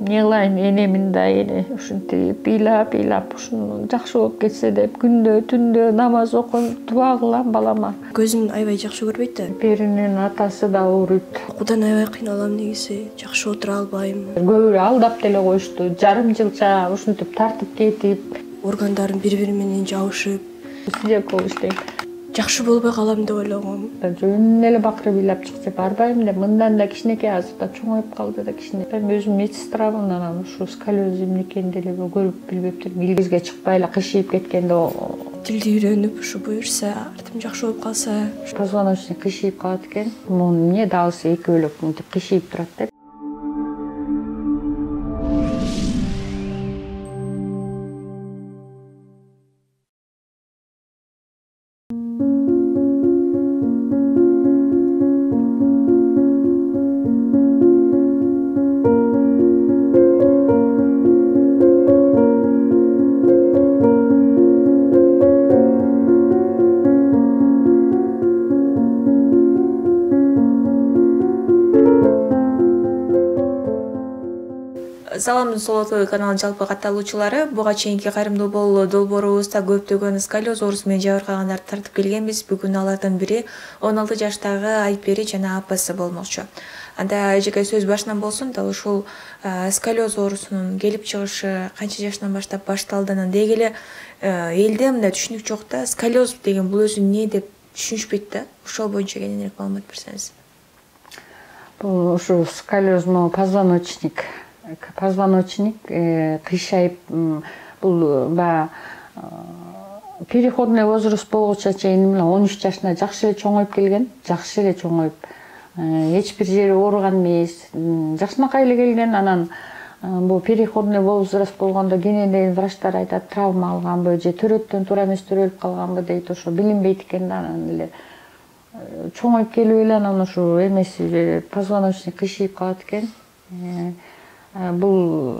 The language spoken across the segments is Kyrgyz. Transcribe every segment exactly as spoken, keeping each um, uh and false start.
эмне кылайын, энемин да эне ушинтип ыйлап ыйлап ушуну жакшы болуп кетсе деп күндө түндө намаз окуп дуа кылам балама. Көзүн аябай жакшы көрбөйт да. Беринин атасы да ооруйт. Окуудан аябай кыйналам негизи, жакшы отура албайм. Көбүрөөкү алдап деле коюшту. Жарым жылча ушинтип тартып кетип, органдарым бири-бири менен жабышып, сидек болуш дейт. Жакшы болбой калам деп ойлогом. Жөн эле бакырып ыйлап чыкса барбайм деп, мындан да кичинекей азыр да чоңоюп калды да кичине. Мен өзүм медсестрамын, анан ушу сколиоз эмне экенин деле көрүп билбептир. Илгизге чыкпай эле кышыйып кеткенде тилди үйрөнүп, ушу буюрса, артым жакшы болуп калса, позвоночник кышыйып калат экен. Муну эмне дагысы экөөлөп мынтип кышыйып турат деп. Саламдын Солото каналынын жалпы катталуучулары, буга чейинки кайрымдуу болуу долбоорубузда көптөгөн сколиоз оорусу менен жабыркагандарды тартып келгенбиз. Бүгүн алардын бири он алты жаштагы Айпери жана апасы болмокчу. Анда эжеке сөз башынан болсун, дал ушул сколиоз оорусунун келип чыгышы канча жаштан баштап башталды, анан деги эле элде мындай түшүнүк жок да, сколиоз деген бул өзү эмне деп түшүнүшпөйт да. Ошол боюнча кененирээк маалымат берсеңиз. Бул ушул сколиоз могу позвоночник позвоночник кыйшайып, бул баягы переходный возраст болгуча чейин он үч жашына жакшы эле чоңоюп келген, жакшы эле чоңоюп, эч бир жери ооруган эмес, жакшынакай эле келген. Анан бул переходный возраст болгондо кененен врачтар айтат, травма алганбы же төрөттөн туура эмес төрөлүп калганбы дейт, ошо билинбейт экен да. Анан эле чоңоюп келип эле анан ушу эмеси позвоночник кыйшайып калат экен. Бул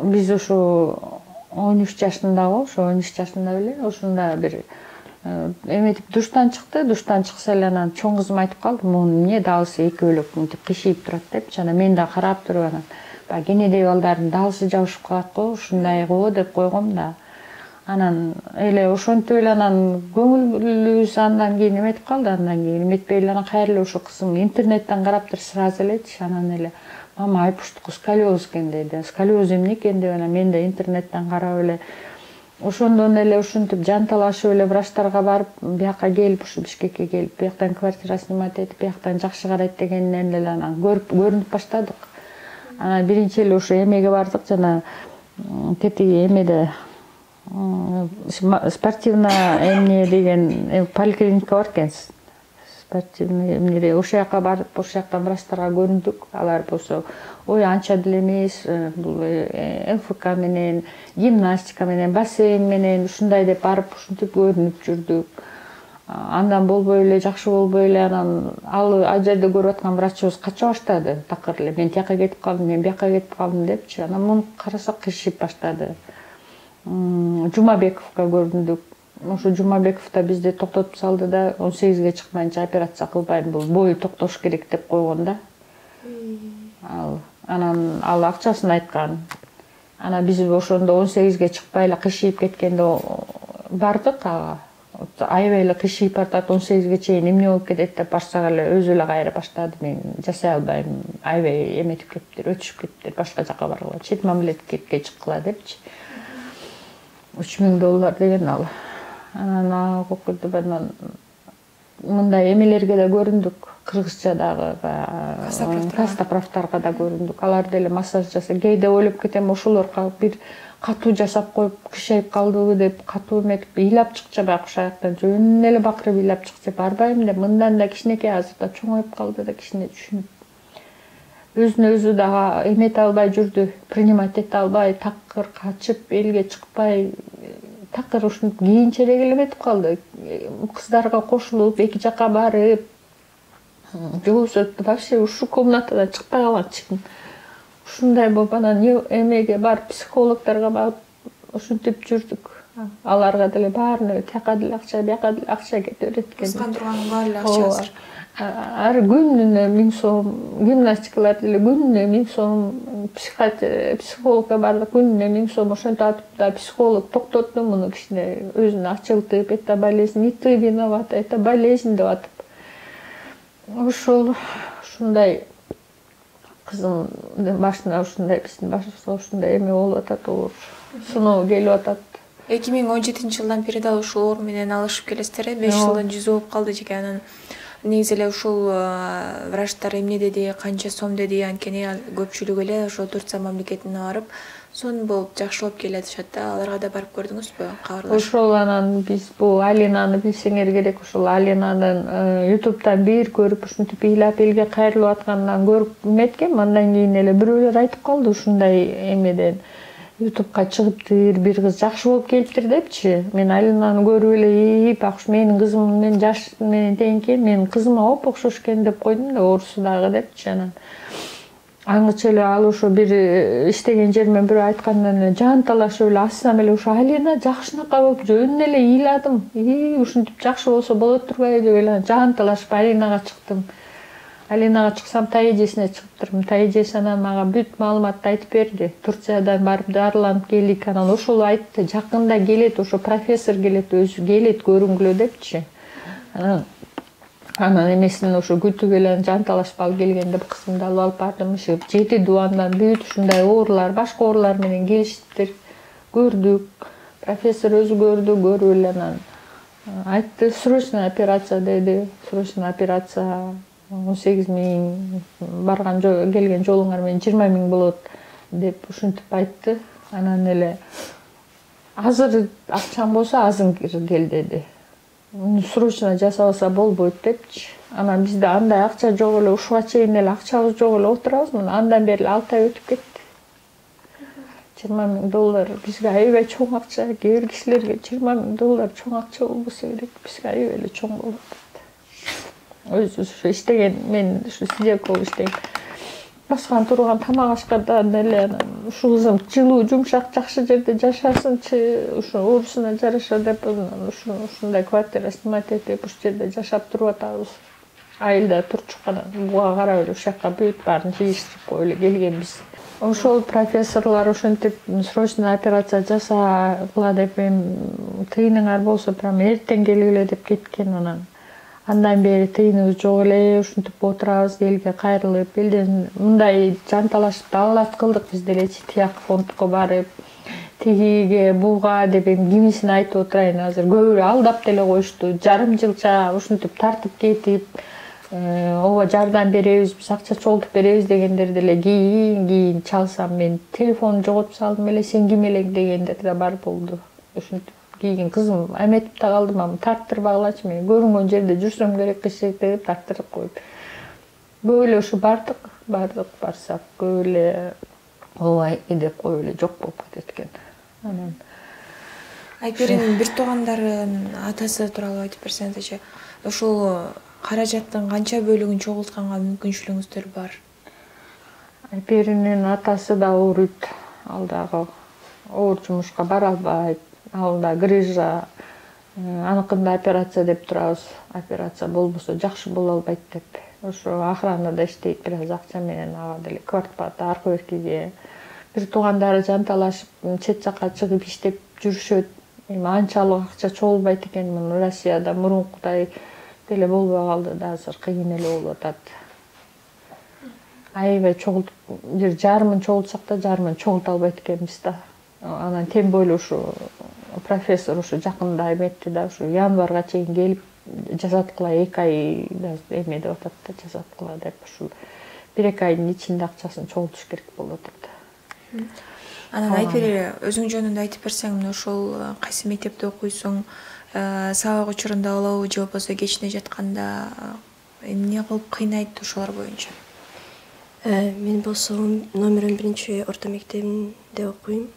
биз ушу он үч жашындагы, ошо он үч жашында беле ушунда бир эметип душтан чыкты. Душтан чыкса эле анан чоң кызым айтып калды, муну эмне дагысы экөөлөп мынтип кышыйып турат депчи. Анан мен да карап туруп, анан баягы кенедей балдардын дагысы жабышып калат го, ушундай го деп койгом да. Анан эле ошентип эле анан көңүлүбүз андан кийин эметип калды. Андан кийин эметпей эле анан кайра эле ошо кызым интернеттен караптыр сразу элечи. Анан эле мама айпуштуку сколиоз экен деди. Сколиоз эмне экен деп анан мен да интернеттен карап эле ошондон эле ушинтип жанталашып эле врачтарга барып, бияка келип, ушу Бишкекке келип, бияктан квартира снимать этип, бияктан жакшы карайт дегенден эле анан көрүп көрүнүп баштадык. Анан биринчи эле ошо эмеге бардык, жана тетиги эмеде спортивный эмне деген поликлиника бар экен. Спортивный эмне ошол жака барып, ошол жактан врачтарга көрүндүк. Алар болсо ой анча деле эмес, бул МФК менен, гимнастика менен, бассейн менен ушундай деп барып ушинтип көрүнүп жүрдүк. Андан болбой эле, жакшы болбой эле, анан ал ал жерде көрүп аткан врачыбыз кача баштады. Такыр эле мен тияка кетип калдым, мен бияка кетип калдым депчи. Анан муну карасак кышып баштады. Жумабековго көрүндүк. Ошо Жумабеков да бизди токтотуп салды да, он сегизге чыкмайынча операция кылбайм, бул бою токтош керек деп койгон да. Ал анан ал акчасын айткан. Анан биз ошондо он сегизге чыкпай эле кышыйып кеткенде бардык ага. Аябай эле кышыйып бартат, он сегизге чейин эмне болуп кетет деп барсак эле өзү эле кайра баштады. Мен жасай албайм, аябай эметип кетиптир, өтүшүп кетиптир, башка жака баргыла, чет мамлекетке чыккыла депчи. үч миң доллар деген ал. Анан окуйт анан мындай эмелерге да көрүндүк. Кыргызчадагы кастаправтарга да көрүндүк. Алар деле массаж жасап, кээде ойлоп кетем, ошолор бир катуу жасап коюп кышайып калдыбы деп, катуу эметип ыйлап чыкчы баягы ошол жактан жөн эле бакырып ыйлап чыкчы барбайм деп, мындан да кичинекей азыр да чоңоюп калды да кичине түшүнүп. Өзүнө өзү дагы эмете албай жүрдү, принимать эте албай, такыр качып, элге чыкпай, такыр ушинтип кийинчерээк эле эметип калды. Кыздарга кошулуп, эки жака барып, же болбосо вообще ушул комнатадан чыкпай калган чыкын. Ушундай болуп анан эмеге барып, психологдорго барып, ушинтип жүрдүк. Аларга деле баарына тияка деле акча, бияка деле акча кете берет экен. Кыскан турганын баары эле акча азыр. ар күнүнө миң сом, гимнастикалар деле күнүнө миң сом, психологко бардык күнүнө миң сом, ошентип атып да психолог токтотту муну кичине өзүн ачылтып, это болезнь, не ты виновата, это болезнь деп атып. Ошол ушундай кызым башына ушундай биздин башыбызга ушундай эме болуп атат, оор сыноо келип атат. эки миң он жетинчи жылдан бери дал ушул оор менен алышып келесиздер э? беш жылдын жүзү болуп калды жеке. Анан негизи эле ушул врачтар эмне деди, канча сом деди, анткени көпчүлүк эле ошо Турция мамлекетине барып сонун болуп жакшылап келатышат да. Аларга да барып көрдүңүзбү, кабарлашып? Ошол анан биз бул Алинаны билсеңер керек, ушул Алинанын ютубтан бир көрүп ушинтип ыйлап элге кайрылып атканынан көрүп эметкем. Андан кийин эле бирөөлөр айтып калды ушундай эмеден ютубка чыгыптыр, бир кыз жакшы болуп келиптир депчи. Мен Алинаны көрүп эле бак ушу менин кызым менен жаш менен тең экен, менин кызыма оп окшош экен деп койдум да, оорусу дагы депчи. Анан аңгыча эле ал ошо бир иштеген жеримен бирөө айткандан эле жан талашып эле астынан эле ошо Алина жакшынакай болуп жөнүнөн эле ыйладым. И ушинтип жакшы болсо болот турбайбы деп эле жан талашып Алинага чыктым. Алинага чыксам тай эжесине чыгыптырмын. Тай эжеси анан мага бүт маалыматты айтып берди. Турциядан барып дарыланып келдик. Анан ошол айтты, жакында келет, ошо профессор келет, өзү келет көрүнгүлө депчи. Анан анан эмесин ошо күтүп эле жан талашып алып келген деп кызымды алып алып бардым. Жети дубандан бүт ушундай оорулар, башка оорулар менен келишиптир. Көрдүк. Профессор өзү көрдү, көрүп эле анан айтты, срочный операция деди. Срочный операция он сегиз миң, барган келген жолуңар менен жыйырма миң болот деп ушинтип айтты. Анан эле азыр акчаң болсо азыр кел деди. Срочно жасабаса болбойт депчи. Анан бизде андай акча жок эле, ушуга чейин эле акчабыз жок эле отурабыз. Андан бери алты ай өтүп кетти. жыйырма миң доллар бизге аябай чоң акча. Кээ бир кишилерге жыйырма миң доллар чоң акча болбосо керек, бизге аябай эле чоң болуп атат. Өзү ушу иштеген, мен ушу сидек болуп иштейм. Баскан турган тамак ашкандан эле анан ушул кызым жылуу, жумшак, жакшы жерде жашасынчы, ушу оорусуна жараша деп ушу ушундай квартира снимать этип ушул жерде жашап туруп атабыз. Айылда турчук анан буга карап эле ушул жакка бүт баарын жыйыштырып коюп эле келгенбиз. Ошол профессорлор ошентип срочный операция жасагыла деп эми тыйыныңар болсо прям эртең келгиле деп кеткен. Анан андан бери тыйыныбыз жок эле, ушинтип отурабыз, элге кайрылып, элден мындай жан талашып далалат кылдык биз делечи, тияк фондко барып, тигиге, буга деп эми кимисин айтып отурайын азыр. Көбүрө алдап деле коюшту, жарым жылча ушинтип тартып кетип, ооба жардам беребиз, биз акча чогултуп беребиз дегендер деле кийин кийин чалсам мен телефонду жоготуп салдым эле, сен ким элең дегендер да бар болду. Ушинтип кийин кызым эметип да калдым, ам тарттырбагылачы, мен көрүнгөн жерде жүрсөм керек киши деп тарттырып коюп. Көп эле ушу бардык, бардык барсак көп эле ооба деп коюп эле жок болуп кетет экен. Анан Айперинин бир туугандарын атасы тууралуу айтып берсеңизчи, ошол каражаттын канча бөлүгүн чогултканга мүмкүнчүлүгүңүздөр бар? Айперинин атасы да ооруйт, ал дагы оор жумушка бара албайт. Ал да грыжа, аныкында операция деп турабыз. Операция болбосо жакшы боло албайт деп. Ошо охранада иштейт, бир аз акча менен ага деле квартплата аркы беркиге. Бир туугандары жан талашып чет жакка чыгып иштеп жүрүшөт. Эми анчалык акча чогулбайт экен. Муну Россияда мурункудай деле болбой калды да, азыр кыйын эле болуп атат. Аябай чогултуп, бир жарымын чогултсак да жарымын чогулта албайт экенбиз да. Анан тем более ушу профессор ушу жакында эметти да, ушу январга чейин келип жасаткыла эки ай эме деп атат да, жасаткыла деп ушул бир эки айдын ичинде акчасын чогултуш керек болуп атат. Анан Айпери өзүң жөнүндө айтып берсең, ошол кайсы мектепте окуйсуң, сабак учурунда болобу же болбосо кечине жатканда эмне кылып кыйнайт ошолор боюнча? Мен болсо номер он биринчи орто мектебинде окуйм.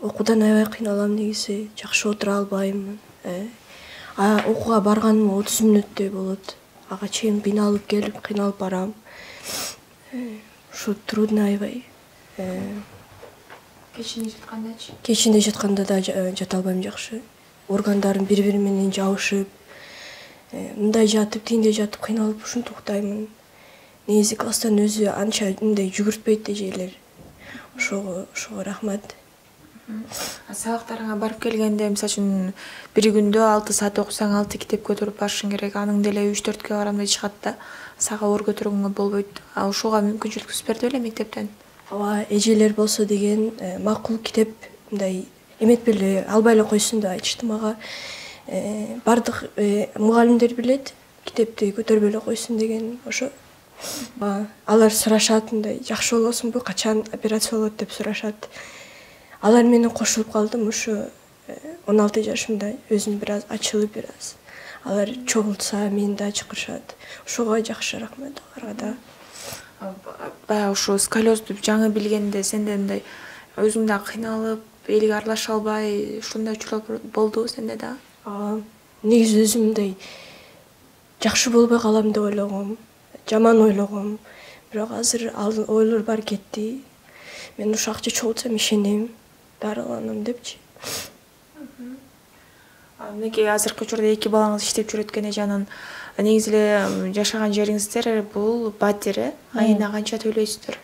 Окуудан аябай кыйналам негизи, жакшы отура албайм. Окууга барганым отуз мүнөттөй болот. Ага чейин кыйналып келип, кыйналып барам. Ушу трудно аябай. Кечине жаткандачы? Кечине жатканда да жата албайм жакшы. Органдарым бири-бири менен жабышып, мындай жатып тигиндей жатып кыйналып ушинтип уктаймын. Негизи класстан өзү анча мындай жүгүртпөйт эжелер. Ошого ошого рахмат. Сабактарыңа барып келгенде, мисалы үчүн бир күндө алты саат окусаң алты китеп көтөрүп барышың керек. Аның деле үч төрткө барам деп чыгат да, сага оор көтөргөнгө болбойт. А ушуга мүмкүнчүлүк түзүп берди беле мектептен? Ооба, эжелер болсо деген макул китеп мындай эметпей эле албай эле койсун деп айтышты мага. Бардык мугалимдер билет, китепти көтөрбөй эле койсун деген. Ошо алар сурашат, мындай жакшы болосуңбу, качан операция болот деп сурашат. Алар менен кошулуп калдым. Ушу он алты жашымда өзүм бир аз ачылып, бир аз алар чогултса мени да чакырышат. Ошого жакшы рахмат аларга да. Баягы ушу сколиозду жаңы билгенде сенде мындай өзүң да кыйналып, элге аралаша албай, ушундай учурлар болдубу сенде да? Ооба. Негизи өзүм мындай жакшы болбой калам деп ойлогом, жаман ойлогом. Бирок азыр ал ойлор баары кетти. Мен ушу акча чогултсам ишенем, дарыланам депчи. Мынакей азыркы учурда эки балаңыз иштеп жүрөт экен эже, анан негизи эле жашаган жериңиздер бул батир, э? Айына канча төлөйсүздөр?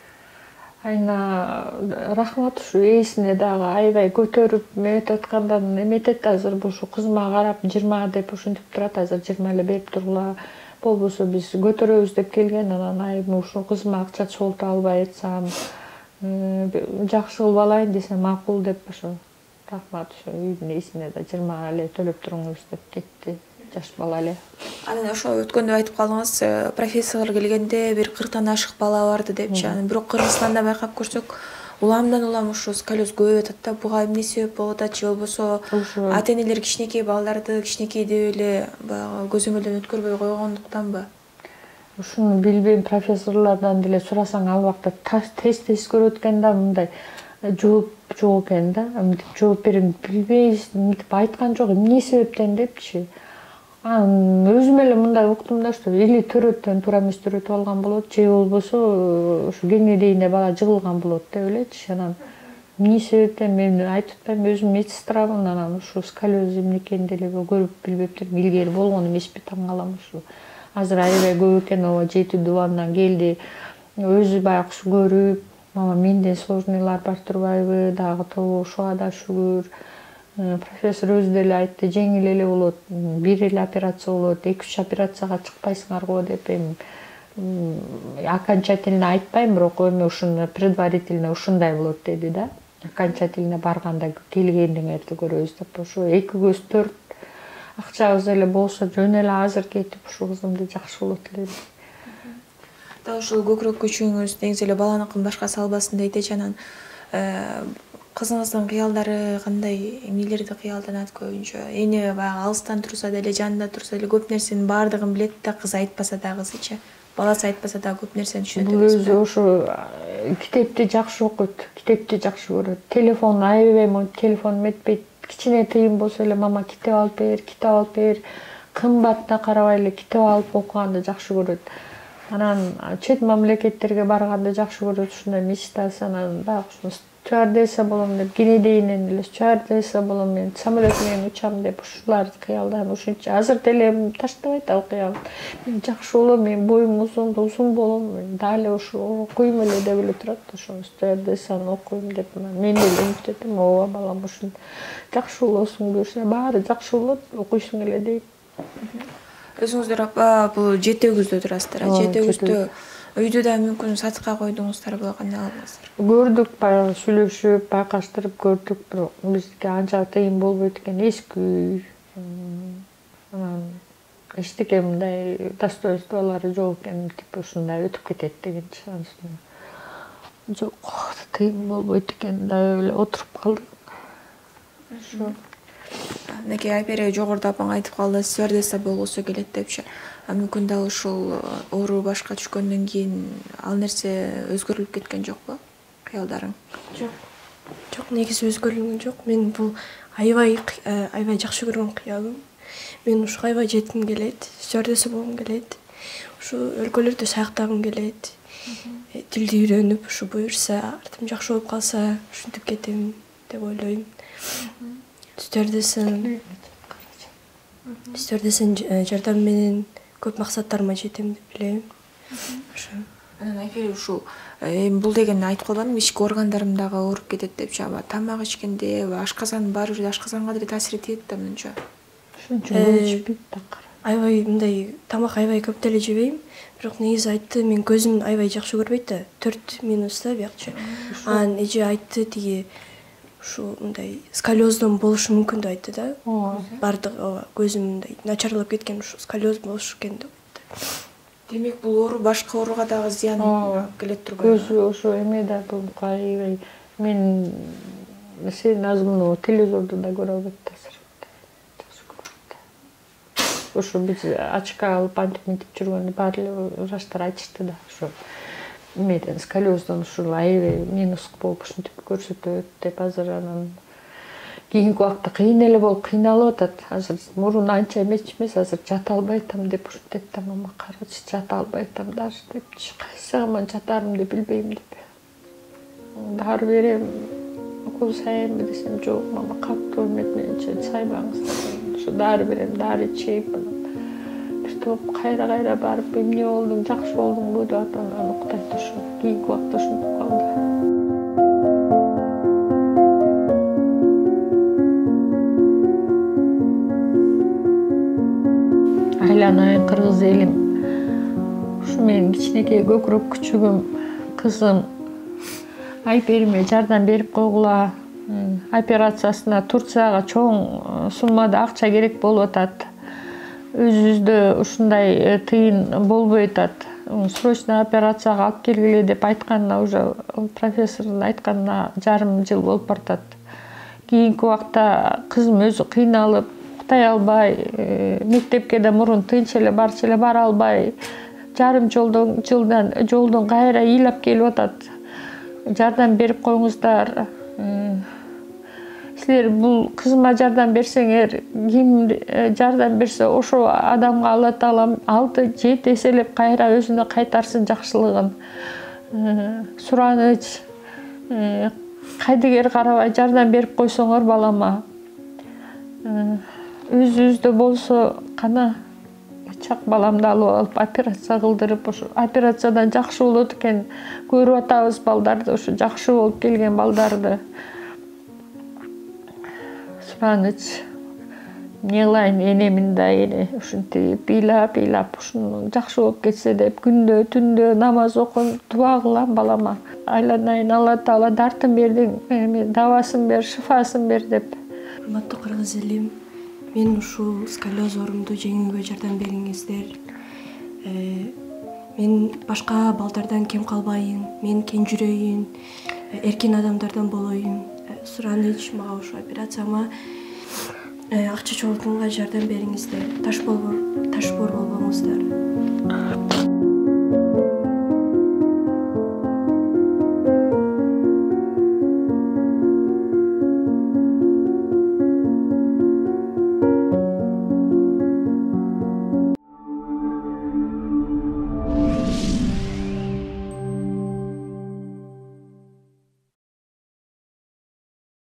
Айына рахмат, ушу ээсине дагы аябай көтөрүп эметип аткандан эметет. Азыр ушу кызыма карап жыйырма деп ушинтип турат. Азыр жыйырма эле берип тургула. Болбосо биз көтөрөбүз деп келген. Анан айым ушу кызыма акча чогулта албай атсам, жакшы кылып алайын десем макул деп ошо рахмат, ошо үйдүн ээсине да жыйырма эле төлөп туруңуз деп кетти. Жаш бала эле. Анан ошо өткөндө айтып калдыңыз, профессор келгенде бир кырктан ашык бала барды депчи. Анан бирок Кыргызстанда байкап көрсөк, уламдан улам ушу сколиоз көбөйүп атат да. Буга эмне себеп болуп атат же болбосо ата-энелер кичинекей балдарды кичинекей деп эле баягы көзөмөлдөн өткөрбөй койгондуктанбы? Ушуну билбейм, профессорлордон деле сурасаң ал убакта тест тест көрүп өткөн да мындай жооп жок экен да. Мынтип жооп берем, билбейбиз, мынтип айткан жок, эмне себептен депчи. Анан өзүм эле мындай уктум да, что или төрөттөн туура эмес төрөтүп алган болот, же болбосо ушу кеңирээне бала жыгылган болот деп элечи. Анан эмне себептен мен айтып атпайм, өзүм медсестрамын. Анан ушу сколиоз эмне экенин деле көрүп билбептирмин. Илгери болгон эмеспи, таң калам ушу. Азыр аябай көп экен, ооба жети дубандан келди. Өзү баягы ушу көрүп, мама менден сложныйлар бар турбайбы, дагы тобу ушуга да шүгүр. Профессор өзү деле айтты, жеңил эле болот, бир эле операция болот, эки үч операцияга чыкпайсыңар го деп. Эми окончательно айтпайм, бирок эми ушуну предварительно ушундай болот деди да. Окончательно барганда келгендиңерди көрөбүз деп. Ошо эки көз төрт акчабыз эле болсо жөн эле азыр кетип ушу кызымды жакшы болот элем. Да ушул көкүрөк күчүңүз негизи эле баланыкын башка салбасын дейт эже. Анан кызыңыздын кыялдары кандай, эмнелерди кыялданат көбүнчө? Эне баягы алыстан турса деле, жанында турса деле көп нерсенин баардыгын билет да, кыз айтпаса да, кызычы. Баласы айтпаса да көп нерсени түшүнөт. Бул өзү ошо китепти жакшы окуйт, китепти жакшы көрөт. Телефон аябай, телефон эметпейт. Кичине тыйын болсо эле мама китеп алып бер, китеп алып бер. Кымбатына карабай эле китеп алып окуганды жакшы көрөт. Анан чет мамлекеттерге барганды жакшы көрөт, ушундай мечтасы. Анан баягы ушуну стюардесса болом деп, кенедейинен эле стюардесса болом, мен самолет менен учам деп ушуларды кыялдайм. Ушунча азыр деле таштабайт ал кыял. Мен жакшы болом, мен боюм узун, узун болом, дали ушу окуйм эле деп эле турат. Ошо стюардессаны окуйм деп мен деле үмүт этем. Ооба балам, ушун жакшы болосуң буюрса, баары жакшы болот, окуйсуң эле дейт. Өзүңүздөр бул жетөөгүздө турасыздар. Жетөөгүздө үйдү да мүмкүн сатыкка койдуңуздарбы, кандай алгансыздар? Көрдүк, баягы сүйлөшүп, байкаштырып көрдүк, бирок бизге анча тыйын болбойт экен, эски үй. Анан эчтеке мындай достоинстволору жок экен, типа ушундай өтүп кетет деген шансым жок, тыйын болбойт экен деп эле отуруп калдык. Ошо. Мынакей Айпери жогоруда апаң айтып калды, стюардесса болгусу келет депчи. Мүмкүн да ушул оору башка түшкөндөн кийин ал нерсе өзгөрүлүп кеткен жокпу, кыялдарың? Жок. Жок, негизи өзгөрүлгөн жок. Мен бул аябай аябай жакшы көргөн кыялым. Мен ушуга аябай жетким келет, стюардесса болгум келет. Ушу өлкөлөрдө саякатагым келет. Тилди үйрөнүп, ушу буюрса, артым жакшы болуп калса, ушинтип кетем деп ойлойм. Стюардесса стюардесsanын жардамы менен көп максаттарыма жетем деп билем. Ошо. Анан Айпери ушул бул деген айтып калбадым, ички органдарым дагы ооруп кетет деп, жаба тамак ичкенде, ашказан бар жерде ашказанга деле таасир этет да мынча. Ошончо көп ичпейт такыр. Аябай мындай тамак аябай көп деле жебейм, бирок негизи айтты, мен көзүм аябай жакшы көрбөйт да, төрт минус да биякчы. Анан эже айтты тиги ушу мындай сколиоздон болушу мүмкүн деп айтты да. Бардык ооба көзүм мындай начарлап кеткен, ушу сколиоз болушу экен деп айтты. Демек бул оору башка ооруга дагы зыян келет турбайбы? Көзү ошо эме да бул аябай мен сен азгы телевизорду да көрө албайт таасир. Ошо биз очка алып антип мынтип жүргөндө баары эле врачтар айтышты да, ошо эмеден сколиоздон ушул аябай минус болуп ушинтип көрсөтөт деп. Азыр анан кийинки убакта кыйын эле болуп кыйналып атат. Азыр мурун анча эмес эмес, азыр жата албай атам деп ушинтет да, мама карачы жата албай атам даже депчи, кайсы аман жатарымды билбейм деп. Дары берем, укол сайынбы десем, жок мама катуу эмет мененче сайбаңыз. Ошо дары берем, дары ичейм. Бир топ кайра кайра барып эмне болдуң, жакшы болдуңбу деп атам, анан уктайт ошо. Кийинки убакта ушинтип калды. Айланайын кыргыз элим, ушу менин кичинекей көкүрөк күчүгүм, кызым Айпериме жардам берип койгула. Операциясына Турцияга чоң суммада акча керек болуп атат. Өзүбүздө ушундай тыйын болбой атат. Срочно операцияга алып келгиле деп айтканына, уже профессордун айтканына жарым жыл болуп баратат. Кийинки убакта кызым өзү кыйналып, уктай албай, мектепке да мурун тынч эле барчу эле бара албай, жарым жолдон жылдан жолдон кайра ыйлап келип атат. Жардам берип коюңуздар. Силер бул кызыма жардам берсеңер, ким жардам берсе ошо адамга Алла Таалам алты жети эселеп кайра өзүнө кайтарсын жакшылыгын. Сураныч, кайдыгер карабай жардам берип койсоңор балама. Өзүбүздө болсо кана чак баламды алып алып операция кылдырып, ошо операциядан жакшы болот экен. Көрүп атабыз балдарды, ошо жакшы болуп келген балдарды. Сураныч, эмне кылайын, энемин да эле ушинтип ыйлап ыйлап ушуну жакшы болуп кетсе деп күндө түндө намаз окуп дуа кылам балама. Айланайын, Алла Таала дартын бердиң, эми дабасын бер, шифасын бер деп. Урматтуу кыргыз элим, мен ушул сколиоз оорумду жеңүүгө жардам бериңиздер. Мен башка балдардан кем калбайын, мен кең жүрөйүн, эркин адамдардан болоюн. Сураныч, мага ушул операцияма акча чогултууга жардам бериңиздер. Таш болбор, таш бор болбоңуздар.